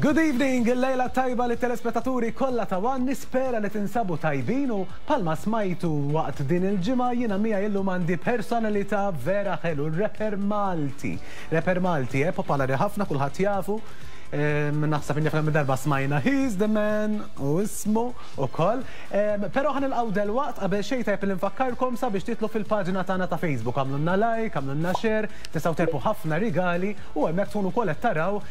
Good evening, il-lejla tajba li telespettaturi kollha ta' One nispera li tinsabu tajbin u palma smajtu waqt din il-ġimgħa jiena miegħi illum għandi personalità vera ħelu, rapper Malti. Rapper Malti, eh, popolari ħafna kulħadd jafu. Naħseb inni kemm darba smajna He's the man u ismu ukoll. Però ħa nilqgħu delwaqt qabel xejn tajjeb li nfakkarkom sabiex titlu fil-paġna tagħna ta' Facebook, għamlulna like, għamlulna share, tistgħu terbħu ħafna rigali u hemmhekk tkunu wkoll qed taraw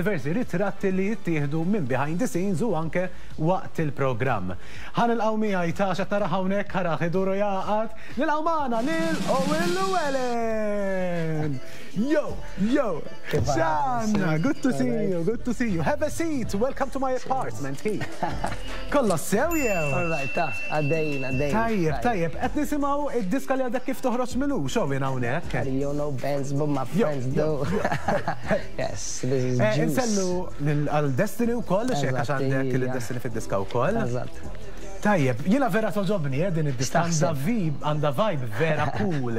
diversi ritratti li jittieħdu minn behind the scenes u anke waqt il-programm. Ħa nilqgħu miegħi ta' x'qed narah hawnhekk arah idur u jagħqad, nilqgħu magħna lil Owen Llewellyn! Yo, yo! X'għandna? Good to see you, good to see you. Have a seat, welcome to my apartment here. Kollox sew jew? All right, ta' għaddejjin, għaddejjin. Tajjeb, tajjeb, qed nisimgħu id-diska li għadek kif toħroġ milux, Owen hawnhekk. You know bands, but my friends do. Yes, this is Juice. Insellu għal Destiny wkoll, xek għax għandek il-Destiny fid-diska wkoll. Eżatt. Tajjeb, jiena vera togħġobni eh, din id-diska għandha vibe, għandha vibe vera cool.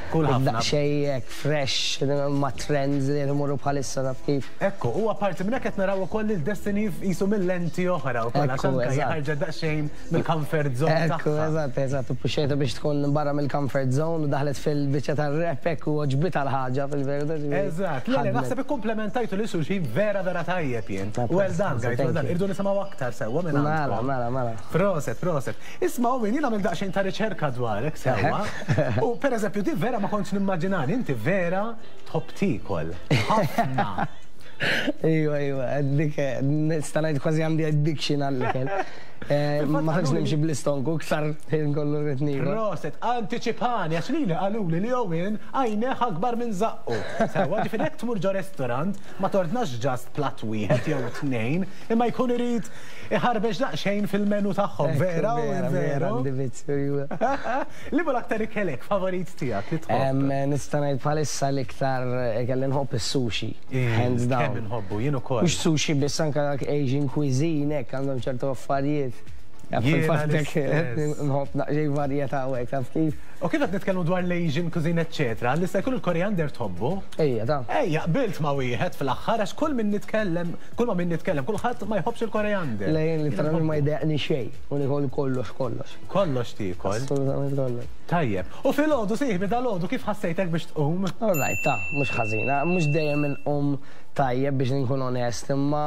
Cool ħafna. Daqsxejn hekk fresh ma' trends li qed imorru bħalissa taf kif. Ekku, u apparti minn hekk qed naraw ukoll lil Destiny qisu minn lenti oħra wkoll għax anke hija ħarġet daqsxejn mill-comfort zone tagħha. Ekku, eżatt, eżatt, u ppuxxejtha biex tkun barra mill-comfort zone u daħlet fil-biċċa tar-rap hekk u għoġbitha l-ħaġa fil-verità ġifieri. Eżatt, le le naħseb ikkumplementajtu lil xulxin vera vera tajjeb jien. Well done guys, well done. Irridu nisimgħu aktar sewwa minn għandkom. Mela, mela, mela. Proset, proset. Isma' Owen, jien għamilt daqsxejn ta' riċerka dwarek sewwa. U pereżempju din vera ma kontx nimmaġinani, inti vera tħobb tiekol. Ħafna. Iva, iva, dik nista' ngħid kważi għandi addiction għall-ikel. Ma tantx nimxi bl-istonku, iktar ħin kollu rrid niekol. Proset, antiċipani, għax lili qaluli li Owen għajnejh akbar minn żaqqu. Sewwa, ġifieri jekk tmur ġo restaurant ma tordnax just platt wieħed jew tnejn, imma jkun irid iħarbex daqsxejn fil-menu tagħhom, vera u Vera, vera, għandi vizzju, iva. Liema l-aktar ikel hekk favorit tiegħek li tħobb? Nista' ngħid bħalissa l-iktar ikel li nħobb is-sushi, hands down. Kemm inħobbu, jien ukoll. Mhux sushi biss, anke Asian cuisine hekk għandhom ċertu affarijiet. Jiena l-istess. Nħobb daqsxejn varjetà u hekk, taf kif? U kif qed nitkellmu dwar l-Asian cuisine eċċetera, li se jkun il-koriander tħobbu? Ejja, ta. Ejja, qbilt ma' wieħed fl-aħħar għax kull min nitkellem, kull ma' min nitkellem, kulħadd ma jħobbx il-koriander. Le jien literalment ma jdejjaqni xejn u niekol kollox kollox. Kollox tiekol? Assolutament kollox. Tajjeb. U filgħodu sieħbi dalgħodu kif ħassejtek biex tqum? All right, ta, mhux ħażina. Mhux dejjem inqum tajjeb biex inkun onest, imma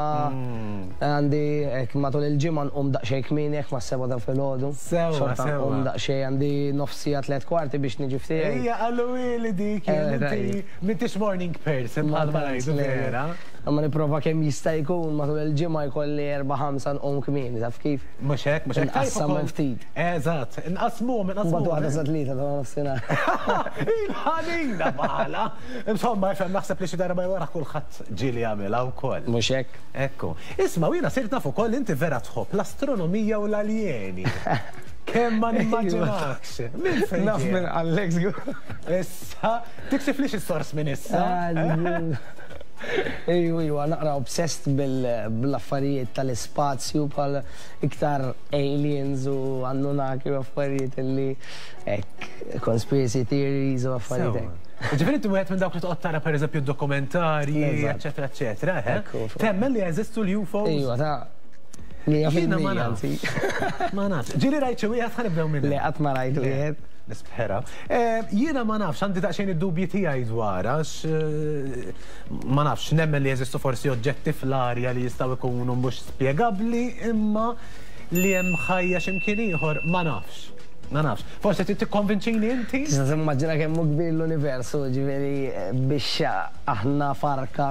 għandi hekk matul il-ġimgħa nqum daqsxejn kmieni hekk mas-sebgħa ta' filgħodu. Sewwa, Xorta sewwa. nqum daqsxejn għandi nofs siegħa tliet kwarti biex niġi f'tiegħi. Ejja qaluli dik jien inti m'intix morning person bħalma ngħidu vera. Imma nipprova kemm jista' jkun matul il-ġimgħa jkolli erba' ħamsa nqum kmieni, taf kif? Mhux hekk, mhux hekk. Tajjeb Inqassamhom ukoll. ftit. Eżatt, inqassmuhom, inqassmuhom. Mbagħad waħda sa tlieta ta' nofsinhar. Il-ħanina bħala. Insomma, ifhem naħseb li xi darba jew oħra kulħadd ġieli jagħmilha wkoll. Mhux hekk? Ekku. Isma' u jiena sirt naf ukoll inti vera tħobb l-astronomija u l-aljeni. Kemm ma nimmaġinakx. Minn fejn Naf ġie? minn qallek żgur. Issa, tiksiflix is-sors minn issa. Ejju, ejju, naqra obsessed bil-affarijiet tal-ispazju bħal iktar aliens u Anunnaki u affarijiet li hekk conspiracy theories u affarijiet hekk. Ġifieri inti wieħed minn dawk li toqgħod tara pereżempju dokumentarji, Eżatt. eċetera, eċetera, eh? Ekku, fuq. Temmen li jeżistu l-UFOs? Ejwa, ta' 100% Jiena ma nafx. anzi. Ma nafx. Ġieli rajt xi wieħed ħa nibdew minn Le, hemm. qatt ma rajt wieħed. Nispera. Jiena ma nafx, għandi daqsxejn id-dubji tiegħi dwar, għax ma nafx, nemmen li jeżistu forsi oġġetti fl-arja li jistgħu jkunu mhux spjegabbli, imma li hemm ħajja x'imkien ieħor ma nafx. Ma nafx. Forsi trid tikkonvinċini inti? Tista' timmaġina kemm hu kbir l-universu, ġifieri biex aħna farka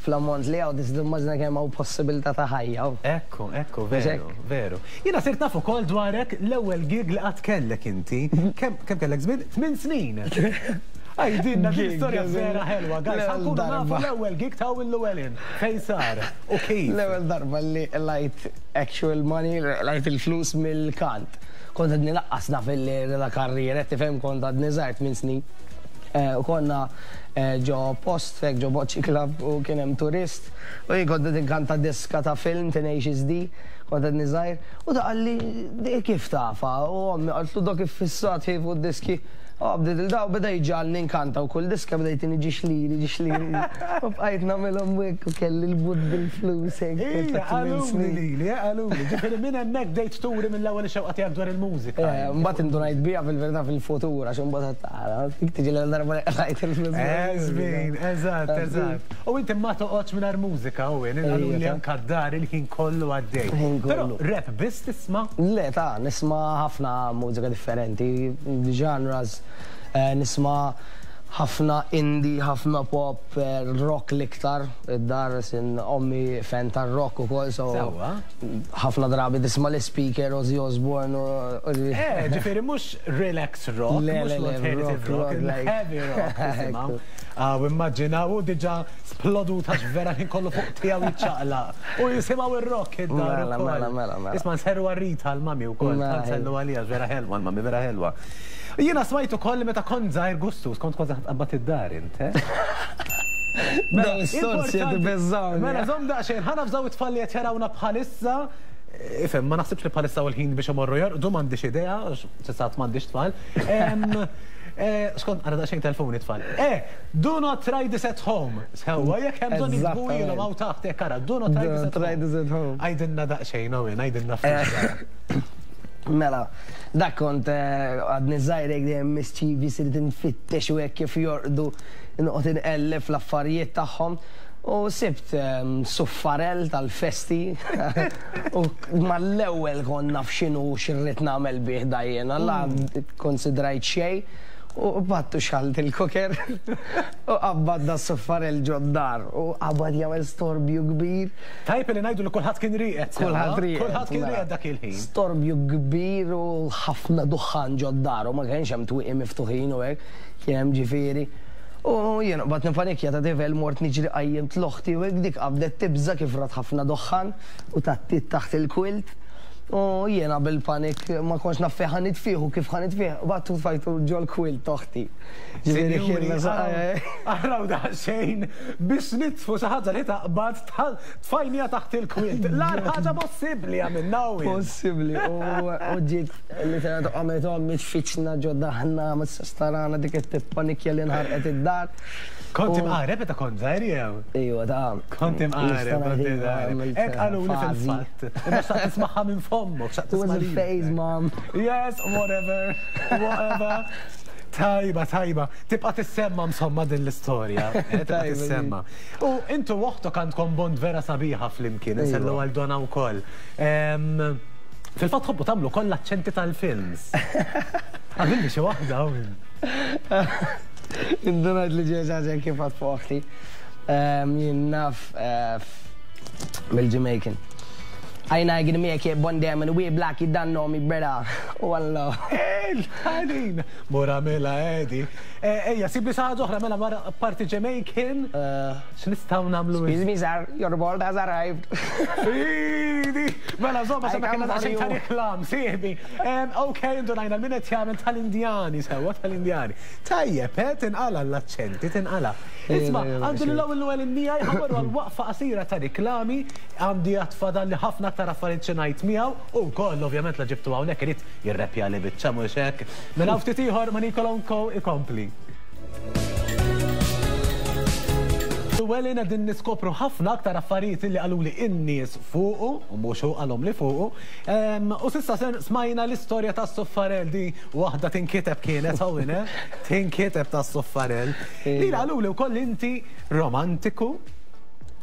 fl-ammont li hawn, tista' timmaġina kemm hawn possibilità ta' ħajja. Ekku, ekku, veru, veru. Jiena sirt naf ukoll dwarek l-ewwel gig li qatt kellek inti. Kemm kemm kellek żmien? Tmien snin. Għidilna din storja vera ħelwa, guys. Ħa nkunu nafu l-ewwel gig ta' Owen Llewellyn. Fejn sar u kif? L-ewwel darba li qlajt actual money, qlajt il-flus mill-kant. Kont għadni laqqas naf illi la karriera, tifhem kont għadni żgħir tmien snin. U konna ġo post hekk ġo Boċċi Club u kien hemm turist u jien kont qed inkanta diska ta' film Tenacious D, kont għadni żgħir, u da qalli di kif tafha? U ommi qaltlu dak iffissat hi fuq diski. U bdiet il-daw beda jġagħalni nkanta u kull diska beda jtini ġiex liri, ġiex liri. U bqajt nagħmilhom hekk u kelli l-but bil-flus hekk. Ija, qaluli lili, qaluli. Ġifieri minn hemmhekk bdejt turi mill-ewwel ix-xewqa tiegħek dwar il-mużika. Mbagħad indunajt biha fil-verità fil-futur għax imbagħad tara, dik tiġi l-ewwel darba li qlajt il-flus. Eżmin, eżatt, eżatt. U inti ma toqgħodx mingħajr mużika, Owen, qaluli anke d-dar il-ħin kollu għaddej. Però rap biss tisma'? Le, ta' nisma' ħafna mużika differenti, genres, nisma' ħafna indie, ħafna pop, rock l-iktar, id-dar sin ommi fan tar-rock ukoll, so ħafna drabi tisma' l-ispeaker Ozzy Osbourne u. Eh, ġifieri mhux relax rock, mhux l-alternative rock, heavy rock tisimgħu. Ah, u immaġinaw hu diġà splodut għax vera l-ħin kollu fuq tiegħu jiċċaqlaq. U jisimgħu r-rock id-dar Mela, mela, mela, mela. Isma' nserru għal Rita l-mami wkoll, tant nsellu għaliha vera ħelwa l-mami, vera ħelwa. Jiena smajt ukoll li meta kont żgħir gustus, kont kważi ħa tqabbad id-dar int, eh? Mela, is-sorsi qed ibeżżgħuni. Mela, żomm daqsxejn, ħa nafżaw it-tfal li qed jarawna bħalissa. Ifhem, ma naħsibx li bħalissa hu l-ħin biex imorru jorqdu, m'għandix idea, għax s'issa għad m'għandix tfal. Skont, ara daqsxejn telfuni tfal. Eh, do not try this at home. Sewwa, jekk hemm bżonn jiktbuhielhom hawn taħt hekk ara, do not try this at home. Try this at home. Għidilna daqsxejn, Owen, għidilna ftit x'ġara. Mela, dak kont għadni żgħir hekk dejjem mischievous irid infittex u hekk kif jorqdu noqgħod inqelleb fl-affarijiet tagħhom. U sibt suffarell tal-festi u mal-ewwel kont naf x'inhu u x'irrid nagħmel bih da jiena, la kkonsidrajt xejn u qbadt u xgħalt il-cooker u qabbadt da s-suffarell ġod-dar u qabad jagħmel storbju kbir. Tajjeb li ngħidu li kulħadd kien rieqed sewwa. Kulħadd rieqed. Kulħadd kien rieqed dak il-ħin. Storbju kbir u ħafna duħħan ġod-dar u ma kienx hemm twieqi miftuħin u hekk, kien hemm ġifieri. U jien qbadt nipanikja ta' tifel mort niġri qajjimt l-oħti u hekk dik qabdet tibża' kif rat ħafna duħħan u tgħattiet taħt il-quilt. U jiena bil-panik ma kontx naf fejn ħa nitfih u kif ħa nitfih, qbadt u tfajtu ġol-quilt t'oħti. Ġifieri kien Sinjuri, araw daqsxejn biex nitfu xi ħaġa li taqbad tfajniha taħt il-quilt. L-agħar ħaġa possibbli għamilna u. Possibbli u ġiet literalment qamet ommi tfittxna ġo daħna ma tistax tarana dik qed tippanikja li nħarqet id-dar. Kont imqareb meta kont żgħir jew? Ejwa ta'. Kont imqareb, kont imqareb. Hekk qaluli fil-fatt. Imma xtaqt tismagħha minn fommok, xtaqt tisma' It was a phase, mom. Yes, whatever, whatever. Tajba, tajba. Tibqa' tissemma msomma din l-istorja. Eh, tibqa' tissemma. U intu oħtok għandkom bond vera sabiħa flimkien, insellu għal Donna wkoll. Fil-fatt tħobbu tagħmlu koll l-aċċenti tal-films. Għamilli xi waħda hawn. Indunajt li ġie ġaġa kif għad fuq oħti. Jien naf eh, mill-Jamaican. I not gonna make it one damn and we black you don't know me brother. Wallah. Il-ħanin! Mura mela Edi. Eh, ejja, sibli xi ħaġa oħra mela mara parti Jamaican. Eh. X'nistgħu nagħmlu? Excuse me sir, your bolt has arrived. Idi! Mela żomma sa kellna daqsxejn ta' reklam, sieħbi. Ok, indunajna min qed jagħmel tal-Indjani sewwa tal-Indjani. Tajjeb, eh, tinqala l-aċċenti, tinqala. Isma' għandu lil hawn l-ewwel in-nija jħammru għal waqfa qasira ta' riklami, għandi għad fadalli ħafna aktar affarijiet xi ngħid miegħu u wkoll ovvjament la ġibtu hawnhekk irid jirreppjali biċċa mhux hekk. Mela hawn ftit ieħor ma' Nicola Co ikompli. Llewellyn qegħdin niskopru ħafna aktar affarijiet li qaluli in-nies fuqu, u mhux hu qalhom li fuqu. U s'issa smajna l-istorja tas-suffarell di waħda tinkiteb kienet hawn, eh? Tinkiteb tas-suffarell. Lili qaluli wkoll inti romantiku.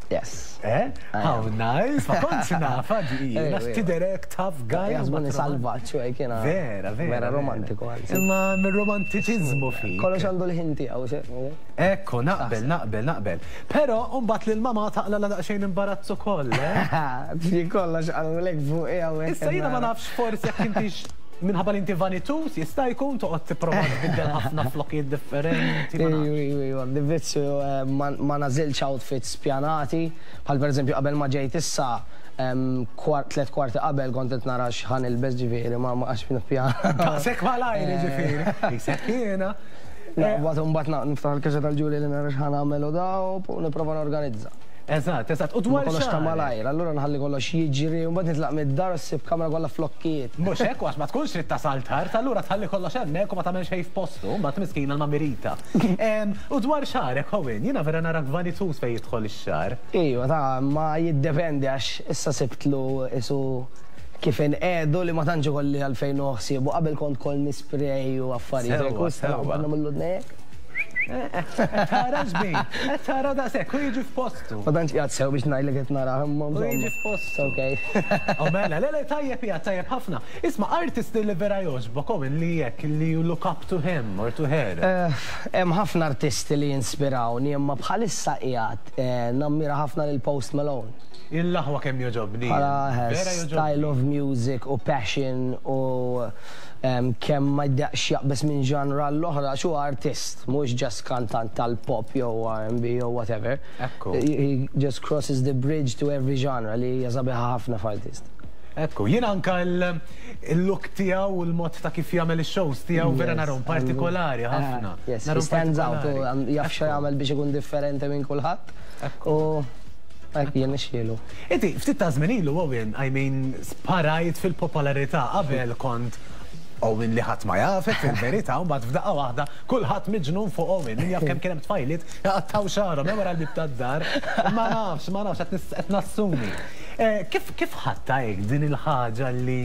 Yes. Eh? How nice, ma kontx nafha di. Għax tidher hekk tough guy. Jaħsbuni salvaġġ u hekk jiena. Vera, vera. Vera romantiku anzi. Imma mir-romantiċiżmu fik. Kollox għandu l-ħin tiegħu. Ekku, naqbel, naqbel, naqbel. Però mbagħad lil mamà taqlagħlha daqsxejn imbarazz ukoll, eh? Jien kollox qalulek fuqi hawnhekk. Issa jiena ma nafx forsi jekk intix minħabba li inti vanituż jista' jkun toqgħod tipprova tbiddel ħafna flokijiet differenti. Iju, iju, iju, għandi vizzju ma nagħżilx outfits pjanati, bħal pereżempju qabel ma ġejt issa, tlett kwarti qabel kont qed nara x'ħa nilbes ġifieri ma għax nippjana. Daqshekk malajr jiġifieri. Qisek jiena. Naqbad u mbagħad niftaħ il-kaxxa tal-ġuri li nara x'ħa nagħmel u da u nipprova norganizza. Eżatt, eżatt. U Ma dwar kollox ta' xagħrek. malajr, allura nħalli kollox jiġri u mbagħad nitlaq mid-dar u ssib kamra kollha flokkijiet. Mhux hekk, għax ma tkunx trid tasal tard, allura tħalli kollox hemmhekk u ma tagħmel xejn f'postu, mbagħad miskina l-mamirita. U dwar xagħrek, Owen, jiena vera narak vanituż fejn jidħol ix-xagħar. Iva, ta' ma jiddependi għax issa sibtlu isu kif inqiegħdu li ma tantx ikolli għalfejn nieħu ħsiebu. Qabel kont kol nispray u affarijiet hekk u Sewwa, issa sewwa. nagħmillu dnejjek. Tara xbin, qed tara daqshekk, u jiġi f'postu. Ma tantx qiegħed sew biex ngħidlek qed narah imma U insomma. jiġi f'postu. Okay. Oh mela, le le tajjeb hija tajjeb ħafna. Isma' artist li vera jogħġbok Owen li jekk li you look up to him or to her. Hemm ħafna artisti li jinspirawni imma bħalissa qiegħed nammira ħafna lil Post Malone. Il-laħwa kemm jogħġobni. Bħala Vera style jogħġobni. of music u passion u kemm ma jdaqx jaqbeż minn genre l-oħra, xu artist, mhux just kantant tal-pop jew R&B jew whatever. Ekku. He just crosses the bridge to every genre li hija sabiħa ħafna f'artist. Ekku, jien anka il-look tiegħu u l-mod ta' kif jagħmel ix-shows tiegħu vera narhom partikolari ħafna. Yes, he Narhom stands out u partikolari. jaf xa Ekku. jagħmel biex ikun differenti minn kulħadd. Ekku. U hekk jien nixxielu. Inti, ftit ta' żmien ilu, Owen, I mean, sparajt fil-popolarità qabel kont Owen li ħadd ma jafek fil-verità, u mbagħad f'daqqa waħda kulħadd miġnun fuq Owen. Min jaf kemm kien hemm tfajliet jaqattaw xagħarhom hemm wara l-bib tad-dar. Ma nafx, ma nafx qed nassumi. Kif ħadtha hekk din il-ħaġa li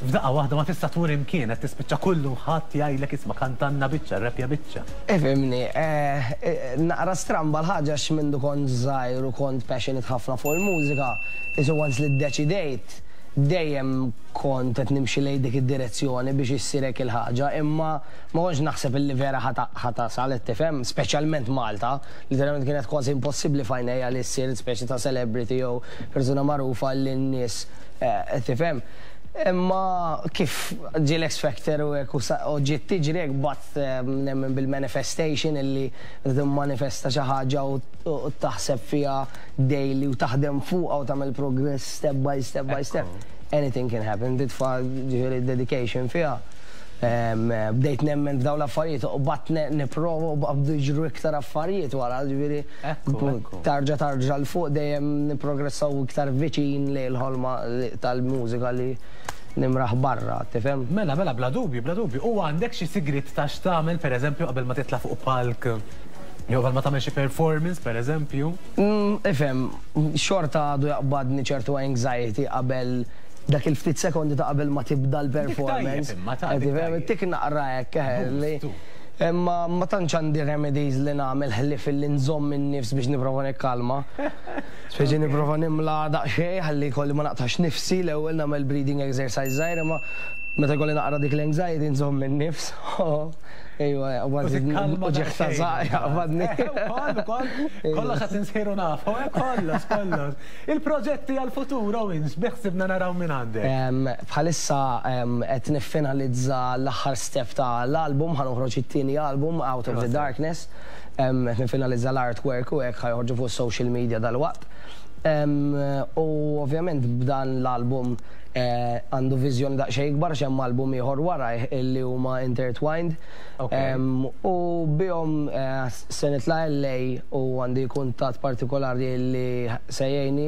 f'daqqa waħda ma tista' tmur imkien qed tispiċċa kullu ħadd jgħidlek isma' kantanna biċċa, repja biċċa. Ifhimni, naqra stramba l-ħaġa għax mindu kont żgħir u kont passionate ħafna fuq il-mużika, isu once li ddeċidejt, dejjem kont qed nimxi lejn dik id-direzzjoni biex issir hekk il-ħaġa, imma ma kontx naħseb illi vera ħa tasal qed tifhem, speċjalment Malta, literalment kienet kważi impossibbli f'għajnejja li ssir speċi ta' celebrity jew persuna magħrufa li n-nies tifhem. Imma kif ġie l-X Factor u hekk u ġiet tiġri hekk bat nemmen bil-manifestation illi timmanifesta xi ħaġa u taħseb fiha daily u taħdem fuqha u tagħmel progress step by step by step. Anything can happen, titfa' ġifieri dedication fiha. Bdejt nemmen f'dawn l-affarijiet u bat nipprova u bdew jiġru iktar affarijiet wara, ġifieri tarġa tarġa 'l fuq dejjem nipprogressaw iktar viċin lejn il-ħolma tal-mużika li nimraħ barra, tifhem? Mela, mela, bla dubju, bla dubju. U għandek xi sigriet ta' x'tagħmel, pereżempju, qabel ma titla' fuq palk? Jew qabel ma tagħmel xi performance, pereżempju? Ifhem, xorta għadu jaqbadni ċertu anxiety qabel dak il-ftit sekondi ta' qabel ma tibda l-performance. Dik tajjeb imma ta' Qed dik tifhem, tajjeb. tik naqra hekk, li Boost, tu. Imma ma tantx għandi remedies li nagħmel ħlief illi nżomm in-nifs biex nipprova nikkalma. Speċi nipprova nimla daqsxejn ħalli jkolli ma naqtax nifsi l-ewwel nagħmel breathing exercise żgħir imma meta jkolli naqra dik l-anxiety nżomm in-nifs. Ejwa, U tikkalma u ġieħ ta' daqsxejn. żaq jaqbadni. Ukoll, ukoll, kollox qed insiru nafu, kollox, kollox. Il-proġetti għal-futur, Owen, x'beħsibna naraw minn għandek? Bħalissa qed niffinalizza l-aħħar step ta' l-album, ħa noħroġ it-tieni album Out of the Proset. Darkness. Qed niffinalizza l-artwork u hekk ħa joħorġu fuq social media dal-waqt. U ovvjament b'dan l-album għandu viżjoni daqsxejn ikbar x'hemm album ieħor wara illi huma intertwined. U bihom se nitla' LA u għandi kuntatt partikolari li se jgħinni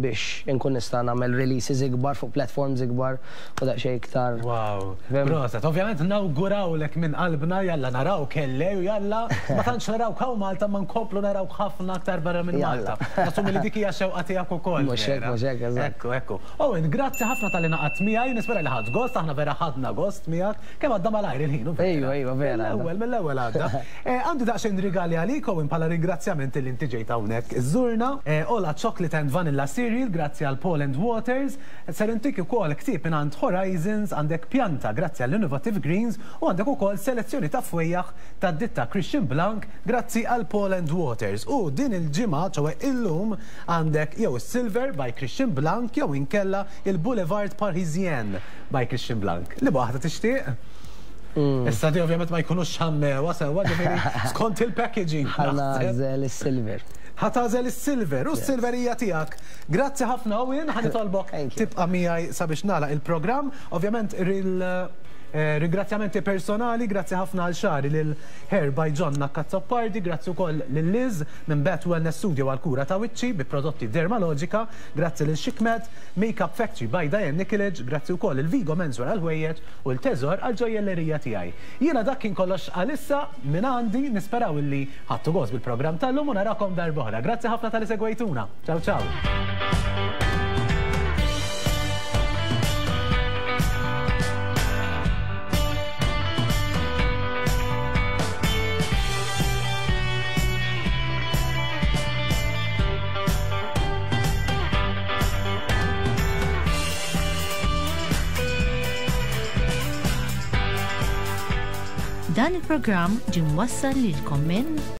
biex inkun nista' nagħmel releases ikbar fuq platforms ikbar u daqsxejn iktar. Wow. Fhem? Proset, ovvjament nawgurawlek minn qalbna jalla naraw kelle u jalla ma tantx naraw hawn Malta ma nkomplu naraw ħafna aktar barra minn Jalla. Malta. Nassumi li dik hija xewqa tiegħek ukoll. Mhux hekk, vera. mhux hekk, eżatt. Ekku, ekku. Owen, grazzi ħafna talli ngħaqadt miegħi, nispera li ħadt gost, aħna vera ħadna gost miegħek. Kemm għadda malajr il-ħin, u vera. Ejwa, ejwa, vera. Mill-ewwel, mill-ewwel għadda. Għandi daqsxejn rigali għalik, Owen, bħala ringrazzjament li inti ġejt hawnhekk iżżurna. Ola Chocolate and Vanilla Cereal, grazzi għal Paul and Waters. Ser intik ukoll ktieb mingħand Horizons, għandek pjanta grazzi għall Innovative Greens u għandek ukoll selezzjoni ta' fwejjaħ ta' ditta Christian Blanc grazzi għal Paul and Waters. U din il-ġimgħa, ċoè illum, għandek jew Silver by Christian Blanc jew inkella il-Boulevard Parisien by Christian Blanc. Li waħda tixtieq? Issa di ovvjament ma jkunux xammewa sewwa ġifieri skont il-packaging. Ħa naħseb. nagħżel is-silver. Ħa tagħżel is-silver u s-silver hija tiegħek. Grazzi ħafna Owen, ħa nitolbok Thank you. tibqa' miegħi sabiex nagħlaq il-programm. Ovvjament Ringrazzjamenti personali, grazzi ħafna għal xagħri lil Hair by Jonna Cazzoppardi, grazzi wkoll lil Liz minn Bat Wellness Studio għall-kura ta' wiċċi bi prodotti Dermalogica, grazzi lil Chicmed, Makeup Factory by Diane Nikolic, grazzi wkoll lil Vigo Menswear għall-ħwejjeġ u l Teżor għall-ġojjellerija tiegħi. Jiena dak kien kollox għalissa minn għandi, nisperaw illi ħadtu gost bil-programm tal-lum u narakom darb'oħra. Grazzi ħafna talli segwejtuna. Ciao ciao. Dan il-programm ġie mwassal lilkom minn.